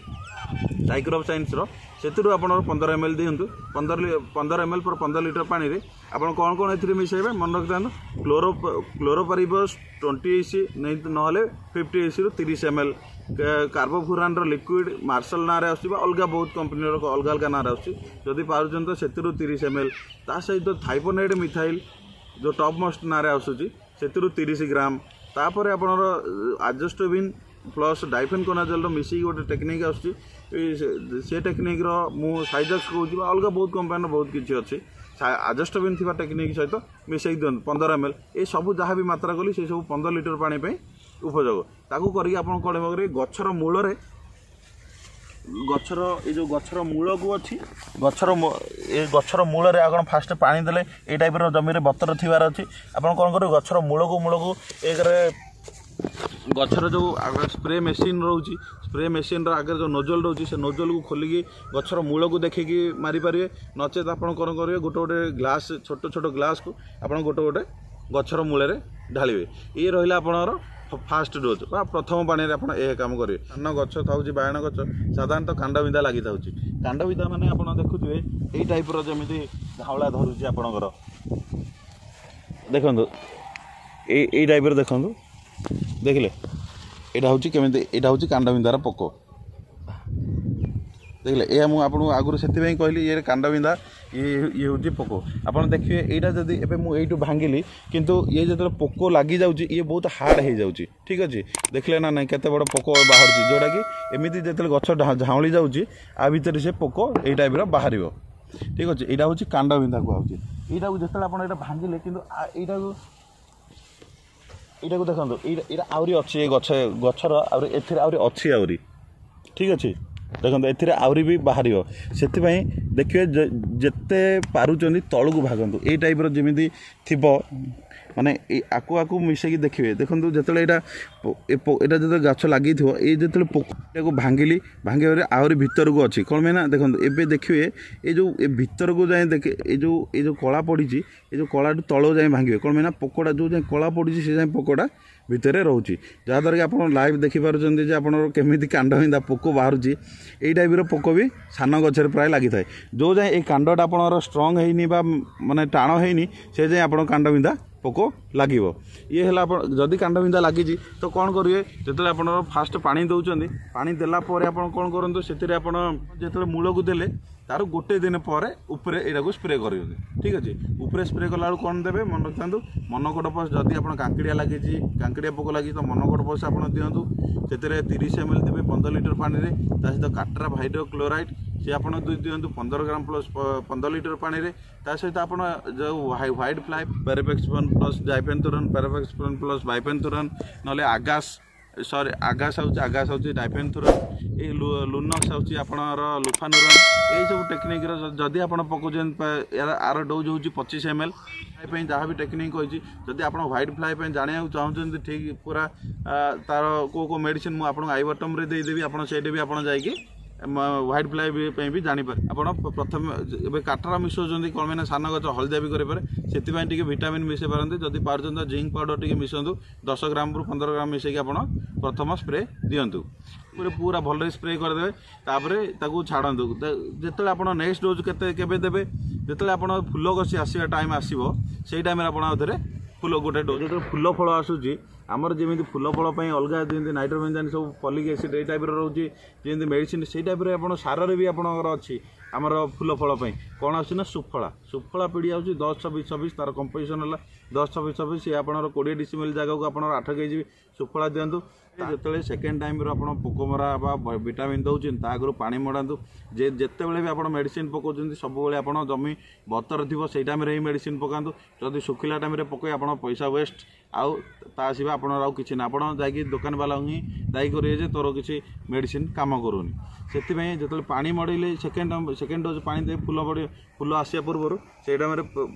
ସାଇକ୍ରୋପ୍ ସାଇନ୍ସର ସେଥିରୁ ଆପଣ ପନ୍ଦର ଏମ୍ ଏଲ୍ ଦିଅନ୍ତୁ ପନ୍ଦର ପନ୍ଦର ଏମ୍ ଏଲ୍ ପର ପନ୍ଦର ଲିଟର ପାଣିରେ ଆପଣ କ'ଣ କ'ଣ ଏଥିରେ ମିଶାଇବେ ମନେ ରଖିଥାନ୍ତୁ କ୍ଲୋରୋ କ୍ଲୋରୋପାରିଫସ୍ ଟ୍ୱେଣ୍ଟି ଇସି ନହେଲେ ଫିଫ୍ଟି ଇସିରୁ ତିରିଶ ଏମ୍ ଏଲ୍ କାର୍ବୋଫୁରାନ୍ର ଲିକ୍ୱିଡ଼ ମାର୍ଶଲ ନାଁରେ ଆସୁଛି ବା ଅଲଗା ବହୁତ କମ୍ପାନୀର ଅଲଗା ଅଲଗା ନାଁରେ ଆସୁଛି ଯଦି ପାରୁଛନ୍ତି ତ ସେଥିରୁ ତିରିଶ ଏମ୍ ଏଲ୍ ତା ସହିତ ଥାଇପୋନାଇଡ଼୍ ମିଥାଇଲ୍ ଯେଉଁ ଟପ୍ ମଷ୍ଟ ନାଁରେ ଆସୁଛି ସେଥିରୁ ତିରିଶ ଗ୍ରାମ ତାପରେ ଆପଣଙ୍କର ଆଜୋଷ୍ଟୋବିନ୍ ପ୍ଲସ୍ ଡାଇଫେନକୋନାଜଲର ମିଶିକି ଗୋଟେ ଟେକ୍ନିକ୍ ଆସୁଛି ସେ ଟେକ୍ନିକ୍ର ମୁଁ ସାଇଜକ୍ସ କହୁଛି ବା ଅଲଗା ବହୁତ କମ୍ପାନୀର ବହୁତ କିଛି ଅଛି ଆଜୋଷ୍ଟୋବିନ୍ ଥିବା ଟେକ୍ନିକ୍ ସହିତ ମିଶାଇକି ଦିଅନ୍ତୁ ପନ୍ଦର ଏମ୍ ଏଲ୍ ଏସବୁ ଯାହା ବି ମାତ୍ରା କଲି ସେସବୁ ପନ୍ଦର ଲିଟର ପାଣି ପାଇଁ ଉପଯୋଗ ତାକୁ କରିକି ଆପଣ କ'ଣ କରିବେ ଗଛର ମୂଳରେ ଗଛର ଏ ଯେଉଁ ଗଛର ମୂଳକୁ ଅଛି ଗଛର ଏ ଗଛର ମୂଳରେ ଆପଣ ଫାଷ୍ଟ ପାଣି ଦେଲେ ଏଇ ଟାଇପ୍ର ଜମିରେ ବତର ଥିବାର ଅଛି ଆପଣ କ'ଣ କରିବେ ଗଛର ମୂଳକୁ ମୂଳକୁ ଏକରେ ଗଛର ଯେଉଁ ସ୍ପ୍ରେ ମେସିନ୍ ରହୁଛି ସ୍ପ୍ରେ ମେସିନ୍ର ଆଗରେ ଯେଉଁ ନୋଜଲ୍ ରହୁଛି ସେ ନୋଜଲ୍କୁ ଖୋଲିକି ଗଛର ମୂଳକୁ ଦେଖିକି ମାରିପାରିବେ ନଚେତ୍ ଆପଣ କ'ଣ କରିବେ ଗୋଟେ ଗୋଟେ ଗ୍ଲାସ୍ ଛୋଟ ଛୋଟ ଗ୍ଲାସ୍କୁ ଆପଣ ଗୋଟେ ଗୋଟେ ଗଛର ମୂଳରେ ଢାଳିବେ ଇଏ ରହିଲା ଆପଣଙ୍କର ଫାଷ୍ଟ ଡୋଜ୍ ବା ପ୍ରଥମ ପାଣିରେ ଆପଣ ଏ କାମ କରିବେ ଧାନ ଗଛ ଥାଉଛି ବାଇଗଣ ଗଛ ସାଧାରଣତଃ କାଣ୍ଡବିନ୍ଧା ଲାଗିଥାଉଛି କାଣ୍ଡବିନ୍ଧା ମାନେ ଆପଣ ଦେଖୁଥିବେ ଏଇ ଟାଇପ୍ର ଯେମିତି ଝାଉଁଳା ଧରୁଛି ଆପଣଙ୍କର ଦେଖନ୍ତୁ ଏଇ ଏଇ ଟାଇପ୍ର ଦେଖନ୍ତୁ ଦେଖିଲେ ଏଇଟା ହେଉଛି କେମିତି ଏଇଟା ହେଉଛି କାଣ୍ଡବିନ୍ଧାର ପୋକ ଦେଖିଲେ ଏହା ମୁଁ ଆପଣଙ୍କୁ ଆଗରୁ ସେଥିପାଇଁ କହିଲି ଇଏ କାଣ୍ଡବିନ୍ଧା ଇଏ ଇଏ ହେଉଛି ପୋକ ଆପଣ ଦେଖିବେ ଏଇଟା ଯଦି ଏବେ ମୁଁ ଏଇଠୁ ଭାଙ୍ଗିଲି କିନ୍ତୁ ଇଏ ଯେତେବେଳେ ପୋକ ଲାଗିଯାଉଛି ଇଏ ବହୁତ ହାର୍ଡ଼ ହେଇଯାଉଛି ଠିକ୍ ଅଛି ଦେଖିଲେ ନା ନାଇଁ କେତେ ବଡ଼ ପୋକ ବାହାରୁଛି ଯେଉଁଟାକି ଏମିତି ଯେତେବେଳେ ଗଛ ଝାଉଁଳି ଯାଉଛି ଆ ଭିତରେ ସେ ପୋକ ଏଇ ଟାଇପ୍ର ବାହାରିବ ଠିକ୍ ଅଛି ଏଇଟା ହେଉଛି କାଣ୍ଡବିନ୍ଧା କୁହାହେଉଛି ଏଇଟାକୁ ଯେତେବେଳେ ଆପଣ ଏଇଟା ଭାଙ୍ଗିଲେ କିନ୍ତୁ ଏଇଟାକୁ ଏଇଟାକୁ ଦେଖନ୍ତୁ ଏଇଟା ଏଇଟା ଆହୁରି ଅଛି ଏ ଗଛ ଗଛର ଆହୁରି ଏଥିରେ ଆହୁରି ଅଛି ଆହୁରି ଠିକ୍ ଅଛି ଦେଖନ୍ତୁ ଏଥିରେ ଆହୁରି ବି ବାହାରିବ ସେଥିପାଇଁ ଦେଖିବେ ଯେତେ ପାରୁଛନ୍ତି ତଳକୁ ଭାଗନ୍ତୁ ଏଇ ଟାଇପ୍ର ଯେମିତି ଥିବ ମାନେ ଏଇ ଆକୁ ଆକୁ ମିଶାଇକି ଦେଖିବେ ଦେଖନ୍ତୁ ଯେତେବେଳେ ଏଇଟା ଏଇଟା ଯେତେବେଳେ ଗଛ ଲାଗିଥିବ ଏଇ ଯେତେବେଳେ ପୋକଟାକୁ ଭାଙ୍ଗିଲି ଭାଙ୍ଗିବାରେ ଆହୁରି ଭିତରକୁ ଅଛି କ'ଣ ପାଇଁ ନା ଦେଖନ୍ତୁ ଏବେ ଦେଖିବେ ଏଇ ଯେଉଁ ଏ ଭିତରକୁ ଯାଇ ଦେଖେ ଏଇ ଯେଉଁ ଏଇ ଯେଉଁ କଳା ପଡ଼ିଛି ଏ ଯେଉଁ କଳାଠୁ ତଳକୁ ଯାଇ ଭାଙ୍ଗିବେ କ'ଣ ପାଇଁ ନା ପୋକଟା ଯେଉଁ ଯାଏଁ କଳା ପଡ଼ିଛି ସେ ଯାଏଁ ପୋକଟା ଭିତରେ ରହୁଛି ଯାହାଦ୍ୱାରା କି ଆପଣ ଲାଇଭ୍ ଦେଖିପାରୁଛନ୍ତି ଯେ ଆପଣଙ୍କର କେମିତି କାଣ୍ଡ ବିନ୍ଧା ପୋକ ବାହାରୁଛି ଏଇ ଟାଇପ୍ର ପୋକ ବି ସାନ ଗଛରେ ପ୍ରାୟ ଲାଗିଥାଏ ଯେଉଁ ଯାଏଁ ଏଇ କାଣ୍ଡଟା ଆପଣଙ୍କର ଷ୍ଟ୍ରଙ୍ଗ ହେଇନି ବା ମାନେ ଟାଣ ହେଇନି ସେ ଯାଏଁ ଆପଣ କାଣ୍ଡ ବିନ୍ଧା ପୋକ ଲାଗିବ ଇଏ ହେଲା ଆପଣ ଯଦି କାଣ୍ଡ ବିନ୍ଧା ଲାଗିଛି ତ କ'ଣ କରିବେ ଯେତେବେଳେ ଆପଣଙ୍କର ଫାଷ୍ଟ ପାଣି ଦେଉଛନ୍ତି ପାଣି ଦେଲା ପରେ ଆପଣ କ'ଣ କରନ୍ତୁ ସେଥିରେ ଆପଣ ଯେତେବେଳେ ମୂଳକୁ ଦେଲେ ତାର ଗୋଟେ ଦିନ ପରେ ଉପରେ ଏଇଟାକୁ ସ୍ପ୍ରେ କରିବେ ଠିକ୍ ଅଛି ଉପରେ ସ୍ପ୍ରେ କଲାବେଳକୁ କ'ଣ ଦେବେ ମନେ ରଖିଥାନ୍ତୁ ମନୋକୋଟୋଫସ୍ ଯଦି ଆପଣ କାଙ୍କିଡ଼ିଆ ଲାଗିଛି କାଙ୍କିଡ଼ିଆ ପୋକ ଲାଗିଛି ତ ମନୋକୋଟୋଫସ୍ ଆପଣ ଦିଅନ୍ତୁ ସେଥିରେ ତିରିଶ ଏମ୍ ଏଲ୍ ଦେବେ ପନ୍ଦର ଲିଟର ପାଣିରେ ତା ସହିତ କାଟ୍ରାଫ୍ ହାଇଡ୍ରୋକ୍ଲୋରାଇଡ଼୍ ସେ ଆପଣ ଦିଅନ୍ତୁ ପନ୍ଦର ଗ୍ରାମ ପ୍ଲସ୍ ପନ୍ଦର ଲିଟର ପାଣିରେ ତା ସହିତ ଆପଣ ଯେଉଁ ହ୍ୱାଇଟ୍ ଫ୍ଲାଏ ପ୍ୟାରାଫେକ୍ସଫନ୍ ପ୍ଲସ୍ ଡାଇଫେନ୍ଥୁରନ୍ ପ୍ୟାରାଫେକ୍ସଫନ୍ ପ୍ଲସ୍ ବାଇଫେନ୍ଥୁରନ୍ ନହେଲେ ଆଗାସ୍ ସରି ଆଗାସ ହେଉଛି ଆଗାସ ହେଉଛି ଡାଇଫେନ୍ଥୁରନ୍ ଏଇ ଲୁନକ୍ସ ହେଉଛି ଆପଣଙ୍କର ଲୁଫାନୁରନ୍ ଏଇସବୁ ଟେକ୍ନିକ୍ର ଯଦି ଆପଣ ପକାଉଛନ୍ତି ଆର ଡୋଜ୍ ହେଉଛି ପଚିଶ ଏମ୍ ଏଲ୍ ପାଇଁ ଯାହା ବି ଟେକ୍ନିକ୍ କହିଛି ଯଦି ଆପଣ ହ୍ୱାଇଟ୍ ଫ୍ଲାଏ ପାଇଁ ଜାଣିବାକୁ ଚାହୁଁଛନ୍ତି ଠିକ୍ ପୁରା ତାର କେଉଁ କେଉଁ ମେଡ଼ିସିନ୍ ମୁଁ ଆପଣଙ୍କୁ I ବଟନ୍ରେ ଦେଇଦେବି ଆପଣ ସେଇଠି ବି ଆପଣ ଯାଇକି ହ୍ୱାଇଟ୍ ଫ୍ଲାଏ ପାଇଁ ବି ଜାଣିପାରିବେ ଆପଣ ପ୍ରଥମେ ଏବେ କାଟରା ମିଶାଉଛନ୍ତି କ'ଣ ପାଇଁ ନା ସାନ ଗଛ ହଳଦିଆ ବି କରିପାରେ ସେଥିପାଇଁ ଟିକେ ଭିଟାମିନ୍ ମିଶାଇ ପାରନ୍ତି ଯଦି ପାରୁଛନ୍ତି ଜିଙ୍କ ପାଉଡ଼ର ଟିକେ ମିଶାନ୍ତୁ ଦଶ ଗ୍ରାମରୁ ପନ୍ଦର ଗ୍ରାମ ମିଶାଇକି ଆପଣ ପ୍ରଥମ ସ୍ପ୍ରେ ଦିଅନ୍ତୁ ପୁରା ପୁରା ଭଲରେ ସ୍ପ୍ରେ କରିଦେବେ ତାପରେ ତାକୁ ଛାଡ଼ନ୍ତୁ ଯେତେବେଳେ ଆପଣ ନେକ୍ସଟ ଡୋଜ୍ କେତେ କେବେ ଦେବେ ଯେତେବେଳେ ଆପଣ ଫୁଲ କଷି ଆସିବା ଟାଇମ୍ ଆସିବ ସେଇ ଟାଇମ୍ରେ ଆପଣ ଆଉ ଥରେ ଫୁଲ ଗୋଟେ ଡୋଜ୍ ଯେତେବେଳେ ଫୁଲ ଫଳ ଆସୁଛି ଆମର ଯେମିତି ଫୁଲ ଫଳ ପାଇଁ ଅଲଗା ଯେମିତି ନାଇଟ୍ରୋବେଞ୍ଜାଇନ୍ ସବୁ ଫଲିକ୍ ଏସିଡ୍ ଏଇ ଟାଇପ୍ର ରହୁଛି ଯେମିତି ମେଡ଼ିସିନ୍ ସେଇ ଟାଇପ୍ରେ ଆପଣ ସାରରେ ବି ଆପଣଙ୍କର ଅଛି ଆମର ଫୁଲ ଫଳ ପାଇଁ କ'ଣ ଆସୁଛି ନା ସୁଫଳା ସୁଫଳା ପିଡ଼ିଆ ହେଉଛି ଦଶ ଛବିଶ ଛବିଶ ତାର କମ୍ପୋଜିସନ୍ ହେଲା ଦଶ ଛବିଶ ଛବିଶ ସିଏ ଆପଣଙ୍କର କୋଡ଼ିଏ ଡିସିମିଲ୍ ଜାଗାକୁ ଆପଣଙ୍କର ଆଠ କେଜି ସୁଫଳା ଦିଅନ୍ତୁ ଯେତେବେଳେ ସେକେଣ୍ଡ ଟାଇମ୍ର ଆପଣ ପୋକମରା ବା ଭିଟାମିନ୍ ଦେଉଛନ୍ତି ତା ଆଗରୁ ପାଣି ମଡ଼ାନ୍ତୁ ଯେ ଯେତେବେଳେ ବି ଆପଣ ମେଡ଼ିସିନ୍ ପକାଉଛନ୍ତି ସବୁବେଳେ ଆପଣ ଜମି ବତର ଥିବ ସେଇ ଟାଇମ୍ରେ ହିଁ ମେଡ଼ିସିନ୍ ପକାନ୍ତୁ ଯଦି ଶୁଖିଲା ଟାଇମ୍ରେ ପକାଇ ଆପଣ ପଇସା ୱେଷ୍ଟ ଆଉ ତା ସିବା ଆପଣଙ୍କର ଆଉ କିଛି ନା ଆପଣ ଯାଇକି ଦୋକାନବାଲାଙ୍କୁ ହିଁ ଦାୟୀ କରିବେ ଯେ ତୋର କିଛି ମେଡ଼ିସିନ୍ କାମ କରୁନି ସେଥିପାଇଁ ଯେତେବେଳେ ପାଣି ମଡ଼େଇଲେ ସେକେଣ୍ଡ ସେକେଣ୍ଡ ଡୋଜ୍ ପାଣି ଦେବେ ଫୁଲ ବଢ଼ି ଫୁଲ ଆସିବା ପୂର୍ବରୁ ସେଇ ଟାଇମ୍ରେ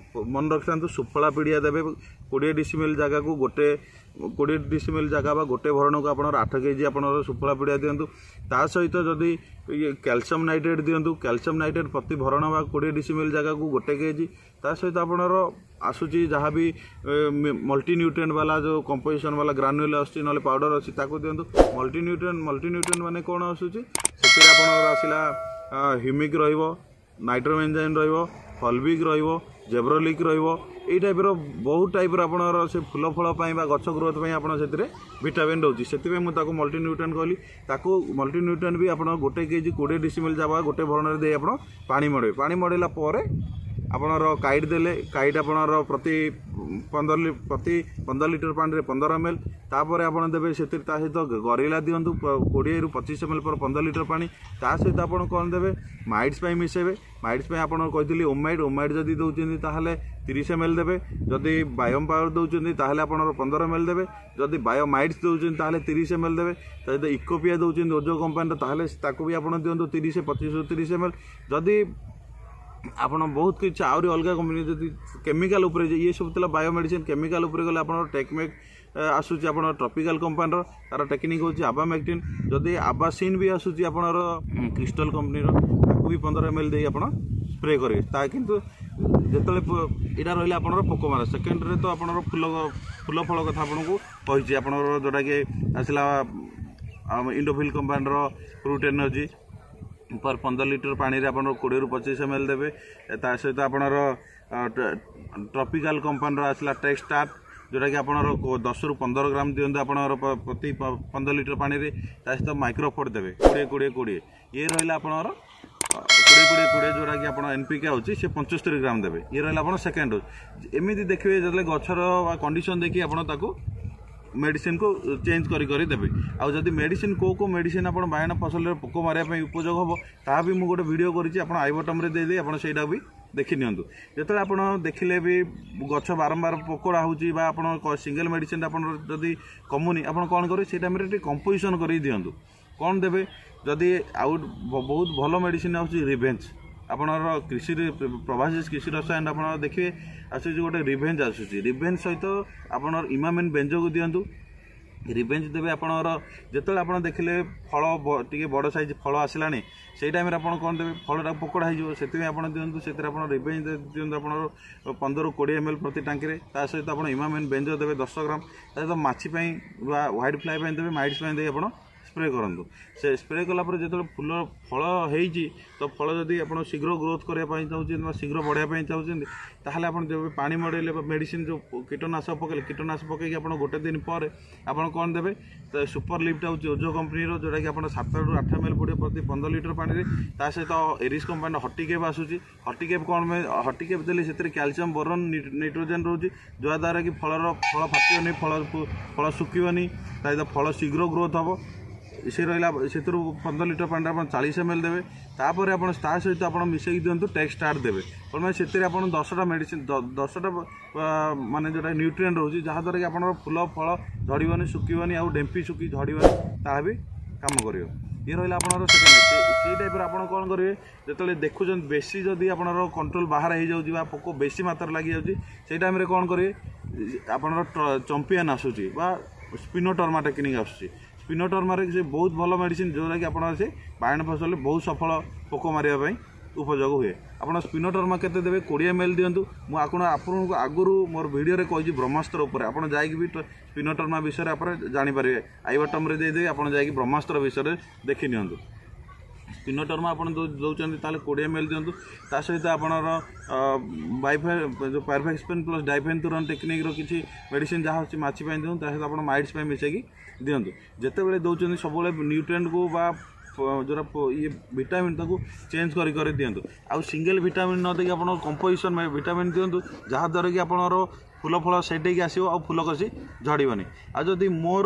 ମନେ ରଖିଥାନ୍ତୁ ସୁଫଳା ପିଡ଼ିଆ ଦେବେ କୋଡ଼ିଏ ଡିସିମିଲ୍ ଜାଗାକୁ ଗୋଟେ କୋଡ଼ିଏ ଡିସିମିଲ୍ ଜାଗା ବା ଗୋଟେ ଭରଣକୁ ଆପଣଙ୍କର ଆଠ କେଜି ଆପଣଙ୍କର ସୁଫଳା ପିଡ଼ିଆ ଦିଅନ୍ତୁ ତା ସହିତ ଯଦି ଇଏ କ୍ୟାଲସିୟମ୍ ନାଇଟ୍ରେଟ୍ ଦିଅନ୍ତୁ କ୍ୟାଲସିୟମ୍ ନାଇଟ୍ରେଟ୍ ପ୍ରତି ଭରଣ ବା କୋଡ଼ିଏ ଡିସିମିଲ୍ ଜାଗାକୁ ଗୋଟେ କେଜି ତା ସହିତ ଆପଣଙ୍କର ଆସୁଛି ଯାହା ବି ମଲ୍ଟି ନ୍ୟୁଟ୍ରିଏଣ୍ଟ ବାଲା ଯେଉଁ କମ୍ପୋଜିସନ୍ ବାଲା ଗ୍ରାନ୍ୟୁଲ୍ ଆସୁଛି ନହେଲେ ପାଉଡ଼ର ଅଛି ତାକୁ ଦିଅନ୍ତୁ ମଲ୍ଟି ନ୍ୟୁଟ୍ରିଏଣ୍ଟ ମଲ୍ଟି ନ୍ୟୁଟ୍ରିଏଣ୍ଟ ମାନେ କ'ଣ ଆସୁଛି ସେଥିରେ ଆପଣଙ୍କର ଆସିଲା ହ୍ୟୁମିକ୍ ରହିବ ନାଇଟ୍ରୋବେଞ୍ଜାଇନ୍ ରହିବ ଫଲବିକ୍ ରହିବ ଜେବ୍ରୋଲିକ୍ ରହିବ ଏଇ ଟାଇପ୍ର ବହୁତ ଟାଇପ୍ର ଆପଣଙ୍କର ସେ ଫୁଲ ଫଳ ପାଇଁ ବା ଗଛ ଗ୍ରୋଥ୍ ପାଇଁ ଆପଣ ସେଥିରେ ଭିଟାମିନ୍ ରହୁଛି ସେଥିପାଇଁ ମୁଁ ତାକୁ ମଲ୍ଟି ନ୍ୟୁଟ୍ରିଏଣ୍ଟ କହିଲି ତାକୁ ମଲ୍ଟି ନ୍ୟୁଟ୍ରିଏଣ୍ଟ ବି ଆପଣ ଗୋଟେ କେଜି କୋଡ଼ିଏ ଡିସିମିଲ୍ ଜାଗା ଗୋଟେ ଭରଣରେ ଦେଇ ଆପଣ ପାଣି ମଡ଼େଇବେ ପାଣି ମଡ଼େଇଲା ପରେ ଆପଣଙ୍କର କାଇଟ୍ ଦେଲେ କାଇଟ୍ ଆପଣଙ୍କର ପ୍ରତି ପନ୍ଦର ପ୍ରତି ପନ୍ଦର ଲିଟର ପାଣିରେ ପନ୍ଦର ଏମ୍ ଏଲ୍ ତାପରେ ଆପଣ ଦେବେ ସେଥିରେ ତା ସହିତ ଗରିଲା ଦିଅନ୍ତୁ କୋଡ଼ିଏରୁ ପଚିଶ ଏମ୍ ଏଲ୍ ପର ପନ୍ଦର ଲିଟର ପାଣି ତା ସହିତ ଆପଣ କ'ଣ ଦେବେ ମାଇଟ୍ସ ପାଇଁ ମିଶାଇବେ ମାଇଟ୍ସ ପାଇଁ ଆପଣ କହିଥିଲି ଓମାଇଟ୍ ଓମାଇଟ୍ ଯଦି ଦେଉଛନ୍ତି ତାହେଲେ ତିରିଶ ଏମ୍ ଏଲ୍ ଦେବେ ଯଦି ବାୟୋମ୍ ପାୱାର ଦେଉଛନ୍ତି ତାହେଲେ ଆପଣଙ୍କର ପନ୍ଦର ଏମ୍ ଏଲ୍ ଦେବେ ଯଦି ବାୟୋମାଇଟ୍ସ ଦେଉଛନ୍ତି ତାହେଲେ ତିରିଶ ଏମ୍ ଏଲ୍ ଦେବେ ତା ସହିତ ଇକୋପିଆ ଦେଉଛନ୍ତି ଓଜୋ କମ୍ପାନୀର ତାହେଲେ ତାକୁ ବି ଆପଣ ଦିଅନ୍ତୁ ତିରିଶ ପଚିଶରୁ ତିରିଶ ଏମ୍ ଏଲ୍ ଯଦି ଆପଣ ବହୁତ କିଛି ଆହୁରି ଅଲଗା କମ୍ପାନୀ ଯଦି କେମିକାଲ ଉପରେ ଇଏ ସବୁ ଥିଲା ବାୟୋମେଡ଼ିସିନ୍ କେମିକାଲ ଉପରେ ଗଲେ ଆପଣଙ୍କର ଟେକମେକ୍ ଆସୁଛି ଆପଣଙ୍କର ଟ୍ରପିକାଲ କମ୍ପାନୀର ତାର ଟେକ୍ନିକ୍ ହେଉଛି ଆବାମେକ୍ଟିନ୍ ଯଦି ଆବାସିନ୍ ବି ଆସୁଛି ଆପଣଙ୍କର କ୍ରିଷ୍ଟଲ କମ୍ପାନୀର ତାକୁ ବି ପନ୍ଦର ଏମ୍ ଏଲ୍ ଦେଇ ଆପଣ ସ୍ପ୍ରେ କରିବେ ତା କିନ୍ତୁ ଯେତେବେଳେ ଏଇଟା ରହିଲା ଆପଣଙ୍କର ପୋକମାରା ସେକେଣ୍ଡରେ ତ ଆପଣଙ୍କର ଫୁଲ ଫୁଲ ଫଳ କଥା ଆପଣଙ୍କୁ କହିଛି ଆପଣଙ୍କର ଯେଉଁଟାକି ଆସିଲା ଇଣ୍ଡୋଫିଲ୍ କମ୍ପାନୀର ଫ୍ରୁଟ୍ ଏନର୍ଜି ପର ପନ୍ଦର ଲିଟର ପାଣିରେ ଆପଣ କୋଡ଼ିଏରୁ ପଚିଶ ଏମ୍ ଏଲ୍ ଦେବେ ତା ସହିତ ଆପଣଙ୍କର ଟ୍ରପିକାଲ କମ୍ପାନୀର ଆସିଲା ଟେକ୍ ଷ୍ଟାର୍ଟ ଯେଉଁଟାକି ଆପଣଙ୍କର ଦଶରୁ ପନ୍ଦର ଗ୍ରାମ ଦିଅନ୍ତୁ ଆପଣଙ୍କର ପ୍ରତି ପନ୍ଦର ଲିଟର ପାଣିରେ ତା ସହିତ ମାଇକ୍ରୋଫୋର୍ଟ ଦେବେ କୋଡ଼ିଏ କୋଡ଼ିଏ କୋଡ଼ିଏ ଇଏ ରହିଲା ଆପଣଙ୍କର କୋଡ଼ିଏ କୋଡ଼ିଏ କୋଡ଼ିଏ ଯେଉଁଟାକି ଆପଣ ଏନ୍ ପି କେ ହେଉଛି ସେ ପଞ୍ଚସ୍ତରୀ ଗ୍ରାମ ଦେବେ ଇଏ ରହିଲା ଆପଣ ସେକେଣ୍ଡ ଡୋଜ୍ ଏମିତି ଦେଖିବେ ଯେତେବେଳେ ଗଛର କଣ୍ଡିସନ୍ ଦେଖି ଆପଣ ତାକୁ ମେଡ଼ିସିନକୁ ଚେଞ୍ଜ କରି କରି ଦେବେ ଆଉ ଯଦି ମେଡ଼ିସିନ କେଉଁ କେଉଁ ମେଡ଼ିସିନ ଆପଣ ବାଇଗଣ ଫସଲରେ ପୋକ ମାରିବା ପାଇଁ ଉପଯୋଗ ହେବ ତାହା ବି ମୁଁ ଗୋଟେ ଭିଡ଼ିଓ କରିଛି ଆପଣ I ବଟନ୍ରେ ଦେଇଦେଇ ଆପଣ ସେଇଟା ବି ଦେଖି ନିଅନ୍ତୁ ଯେତେବେଳେ ଆପଣ ଦେଖିଲେ ବି ଗଛ ବାରମ୍ବାର ପୋକଡ଼ା ହେଉଛି ବା ଆପଣ ସିଙ୍ଗଲ ମେଡ଼ିସିନଟା ଆପଣଙ୍କର ଯଦି କମୁନି ଆପଣ କ'ଣ କରିବେ ସେଇ ଟାଇମ୍ରେ ଟିକେ କମ୍ପୋଜିସନ୍ କରିକି ଦିଅନ୍ତୁ କ'ଣ ଦେବେ ଯଦି ଆଉ ବହୁତ ଭଲ ମେଡ଼ିସିନ ଆସୁଛି ରିଭେଞ୍ଜ ଆପଣଙ୍କର କୃଷିରେ ପ୍ରଭାସିସ କୃଷି ରସାୟନ ଆପଣ ଦେଖିବେ ଆସୁଛି ଗୋଟେ ରିଭେଞ୍ଜ ଆସୁଛି ରିଭେଞ୍ଜ ସହିତ ଆପଣଙ୍କର ଇମାମିନ୍ ବେଞ୍ଜୋକୁ ଦିଅନ୍ତୁ ରିଭେଞ୍ଜ ଦେବେ ଆପଣଙ୍କର ଯେତେବେଳେ ଆପଣ ଦେଖିଲେ ଫଳ ଟିକେ ବଡ଼ ସାଇଜ୍ ଫଳ ଆସିଲାଣି ସେଇ ଟାଇମ୍ରେ ଆପଣ କ'ଣ ଦେବେ ଫଳଟା ପୋକଡ଼ା ହେଇଯିବ ସେଥିପାଇଁ ଆପଣ ଦିଅନ୍ତୁ ସେଥିରେ ଆପଣ ରିଭେଞ୍ଜ ଦିଅନ୍ତୁ ଆପଣଙ୍କର ପନ୍ଦରରୁ କୋଡ଼ିଏ ଏମ୍ ଏଲ୍ ପ୍ରତି ଟାଙ୍କିରେ ତା ସହିତ ଆପଣ ଇମାମିନ୍ ବେଞ୍ଜୋ ଦେବେ ଦଶ ଗ୍ରାମ ତା ସହିତ ମାଛି ପାଇଁ ବା ହ୍ୱାଇଟ୍ ଫ୍ଲାଏ ପାଇଁ ଦେବେ ମାଇଟ୍ସ ପାଇଁ ଦେଇ ଆପଣ ସ୍ପ୍ରେ କରନ୍ତୁ ସେ ସ୍ପ୍ରେ କଲା ପରେ ଯେତେବେଳେ ଫୁଲ ଫଳ ହେଇଛି ତ ଫଳ ଯଦି ଆପଣ ଶୀଘ୍ର ଗ୍ରୋଥ୍ କରିବା ପାଇଁ ଚାହୁଁଛନ୍ତି ବା ଶୀଘ୍ର ବଢ଼ିବା ପାଇଁ ଚାହୁଁଛନ୍ତି ତାହେଲେ ଆପଣ ଯେବେ ପାଣି ମଡ଼େଇଲେ ବା ମେଡ଼ିସିନ ଯେଉଁ କୀଟନାଶକ ପକାଇଲେ କୀଟନାଶକ ପକାଇକି ଆପଣ ଗୋଟେ ଦିନ ପରେ ଆପଣ କ'ଣ ଦେବେ ତ ସୁପର ଲିଫ୍ଟ ହେଉଛି ଓଜୋ କମ୍ପାନୀର ଯେଉଁଟାକି ଆପଣ ସାତରୁ ଆଠ ଏମ୍ ଏଲ୍ ପଡ଼ିବ ପ୍ରତି ପନ୍ଦର ଲିଟର ପାଣିରେ ତା ସହିତ ଏରିସ୍ କମ୍ପାନୀର ହଟିକେପ୍ ଆସୁଛି ହଟିକେପ୍ କ'ଣ ପାଇଁ ହଟିକେପ୍ ଦେଲେ ସେଥିରେ କ୍ୟାଲସିୟମ୍ ବୋରନ୍ ନାଇଟ୍ରୋଜେନ୍ ରହୁଛି ଯାହାଦ୍ୱାରା କି ଫଳର ଫଳ ଫାଟିବନି ଫଳ ଫଳ ଶୁଖିବନି ତା ସହିତ ଫଳ ଶୀଘ୍ର ଗ୍ରୋଥ୍ ହେବ ସେ ରହିଲା ସେଥିରୁ ପନ୍ଦର ଲିଟର ପାଣିରେ ଆପଣ ଚାଳିଶ ଏମ୍ ଏଲ୍ ଦେବେ ତାପରେ ଆପଣ ତା ସହିତ ଆପଣ ମିଶାଇକି ଦିଅନ୍ତୁ ଟେକ୍ ଷ୍ଟାର୍ଟ ଦେବେ କ'ଣ ପାଇଁ ସେଥିରେ ଆପଣ ଦଶଟା ମେଡ଼ିସିନ ଦଶଟା ମାନେ ଯେଉଁଟା ନ୍ୟୁଟ୍ରିଏଣ୍ଟ ରହୁଛି ଯାହାଦ୍ୱାରା କି ଆପଣଙ୍କର ଫୁଲ ଫଳ ଝଡ଼ିବନି ଶୁଖିବନି ଆଉ ଡେମ୍ପି ଶୁଖି ଝଡ଼ିବନି ତାହା ବି କାମ କରିବ ଇଏ ରହିଲା ଆପଣଙ୍କର ସେକେଣ୍ଡ ସେଇ ଟାଇପ୍ର ଆପଣ କ'ଣ କରିବେ ଯେତେବେଳେ ଦେଖୁଛନ୍ତି ବେଶୀ ଯଦି ଆପଣଙ୍କର କଣ୍ଟ୍ରୋଲ ବାହାରେ ହେଇଯାଉଛି ବା ପୋକ ବେଶୀ ମାତ୍ରାରେ ଲାଗିଯାଉଛି ସେଇ ଟାଇମ୍ରେ କ'ଣ କରିବେ ଆପଣଙ୍କର ଚମ୍ପିଆନ୍ ଆସୁଛି ବା ସ୍ପିନୋଟର୍ମା ଟେକ୍ନିକ୍ ଆସୁଛି ସ୍ପିନୋଟର୍ମାରେ ସେ ବହୁତ ଭଲ ମେଡ଼ିସିନ ଯେଉଁଟାକି ଆପଣ ସେ ବାଇଗଣ ଫସଲରେ ବହୁତ ସଫଳ ପୋକ ମାରିବା ପାଇଁ ଉପଯୋଗ ହୁଏ ଆପଣ ସ୍ପିନୋଟର୍ମା କେତେ ଦେବେ କୋଡ଼ିଏ ଏମ୍ ଏଲ୍ ଦିଅନ୍ତୁ ମୁଁ ଆପଣ ଆପଣଙ୍କୁ ଆଗରୁ ମୋର ଭିଡ଼ିଓରେ କହିଛି ବ୍ରହ୍ମାସ୍ତ୍ର ଉପରେ ଆପଣ ଯାଇକି ବି ସ୍ପିନୋଟର୍ମା ବିଷୟରେ ଆପଣ ଜାଣିପାରିବେ I ବଟନ୍ରେ ଦେଇଦେବି ଆପଣ ଯାଇକି ବ୍ରହ୍ମାସ୍ତ୍ର ବିଷୟରେ ଦେଖି ନିଅନ୍ତୁ ସ୍ପିନୋଟର୍ମା ଆପଣ ଦେଉଛନ୍ତି ତାହେଲେ କୋଡ଼ିଏ ଏମ୍ ଏଲ୍ ଦିଅନ୍ତୁ ତା ସହିତ ଆପଣଙ୍କର ବାଇଫେ ଯେଉଁ ପାଇରିଫେକ୍ସପେନ୍ ପ୍ଲସ୍ ଡାଇଫେନ୍ଥୁରନ୍ ଟେକ୍ନିକ୍ର କିଛି ମେଡ଼ିସିନ ଯାହା ଅଛି ମାଛି ପାଇଁ ଦିଅନ୍ତୁ ତା ସହିତ ଆପଣ ମାଇଟ୍ସ ପାଇଁ ମିଶାଇକି ଦିଅନ୍ତୁ ଯେତେବେଳେ ଦେଉଛନ୍ତି ସବୁବେଳେ ନ୍ୟୁଟ୍ରିଏଣ୍ଟକୁ ବା ଯେଉଁଟା ଇଏ ଭିଟାମିନ୍ ତାକୁ ଚେଞ୍ଜ କରି କରି ଦିଅନ୍ତୁ ଆଉ ସିଙ୍ଗଲ ଭିଟାମିନ୍ ନ ଦେଇକି ଆପଣ କମ୍ପୋଜିସନ୍ ଭିଟାମିନ୍ ଦିଅନ୍ତୁ ଯାହାଦ୍ୱାରା କି ଆପଣଙ୍କର ଫୁଲ ଫଳ ସେଟ୍ ହେଇକି ଆସିବ ଆଉ ଫୁଲ କଷି ଝଡ଼ିବନି ଆଉ ଯଦି ମୋର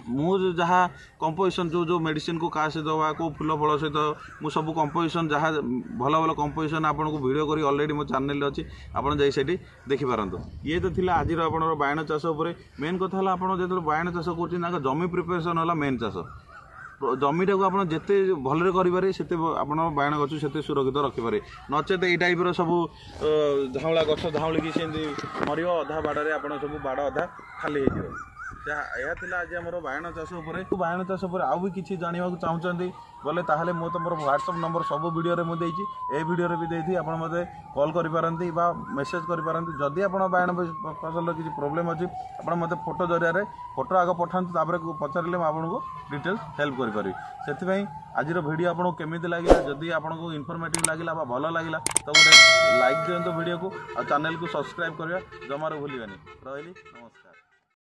ମୁଁ ଯାହା କମ୍ପୋଜିସନ୍ ଯେଉଁ ଯେଉଁ ମେଡ଼ିସିନକୁ କାହା ସହିତ ବା କେଉଁ ଫୁଲ ଫଳ ସହିତ ମୁଁ ସବୁ କମ୍ପୋଜିସନ୍ ଯାହା ଭଲ ଭଲ କମ୍ପୋଜିସନ୍ ଆପଣଙ୍କୁ ଭିଡ଼ିଓ କରି ଅଲରେଡ଼ି ମୋ ଚ୍ୟାନେଲରେ ଅଛି ଆପଣ ଯାଇ ସେଇଠି ଦେଖିପାରନ୍ତୁ ଇଏ ତ ଥିଲା ଆଜିର ଆପଣଙ୍କର ବାଇଗଣ ଚାଷ ଉପରେ ମେନ୍ କଥା ହେଲା ଆପଣ ଯେତେବେଳେ ବାଇଗଣ ଚାଷ କରୁଛନ୍ତି ତାଙ୍କ ଜମି ପ୍ରିପାରେସନ୍ ହେଲା ମେନ୍ ଚାଷ ଜମିଟାକୁ ଆପଣ ଯେତେ ଭଲରେ କରିପାରିବେ ସେତେ ଆପଣ ବାଇଗଣ ଗଛ ସେତେ ସୁରକ୍ଷିତ ରଖିପାରିବେ ନଚେତ ଏଇ ଟାଇପ୍ର ସବୁ ଝାଉଁଳା ଗଛ ଝାଉଁଳିକି ସେମିତି ମରିବ ଅଧା ବାଡ଼ରେ ଆପଣ ସବୁ ବାଡ଼ ଅଧା ଖାଲି ହେଇଯିବ ଯାହା ଏହା ଥିଲା ଆଜି ଆମର ବାଇଗଣ ଚାଷ ଉପରେ ବାଇଗଣ ଚାଷ ଉପରେ ଆଉ ବି କିଛି ଜାଣିବାକୁ ଚାହୁଁଛନ୍ତି ବୋଲେ ତାହେଲେ ମୁଁ ତ ମୋର ହ୍ୱାଟ୍ସଆପ୍ ନମ୍ବର ସବୁ ଭିଡ଼ିଓରେ ମୁଁ ଦେଇଛି ଏ ଭିଡ଼ିଓରେ ବି ଦେଇଛି ଆପଣ ମୋତେ କଲ୍ କରିପାରନ୍ତି ବା ମେସେଜ୍ କରିପାରନ୍ତି ଯଦି ଆପଣ ବାଇଗଣ ଫସଲର କିଛି ପ୍ରୋବ୍ଲେମ୍ ଅଛି ଆପଣ ମୋତେ ଫଟୋ ଜରିଆରେ ଫଟୋ ଆଗ ପଠାନ୍ତୁ ତାପରେ ପଚାରିଲେ ମୁଁ ଆପଣଙ୍କୁ ଡିଟେଲ୍ସ ହେଲ୍ପ କରିପାରିବି ସେଥିପାଇଁ ଆଜିର ଭିଡ଼ିଓ ଆପଣଙ୍କୁ କେମିତି ଲାଗିଲା ଯଦି ଆପଣଙ୍କୁ ଇନଫର୍ମେଟିଭ୍ ଲାଗିଲା ବା ଭଲ ଲାଗିଲା ତ ଗୋଟେ ଲାଇକ୍ ଦିଅନ୍ତୁ ଭିଡ଼ିଓକୁ ଆଉ ଚ୍ୟାନେଲକୁ ସବସ୍କ୍ରାଇବ୍ କରିବା ଜମାରୁ ଭୁଲିବେନି ରହିଲି ନମସ୍କାର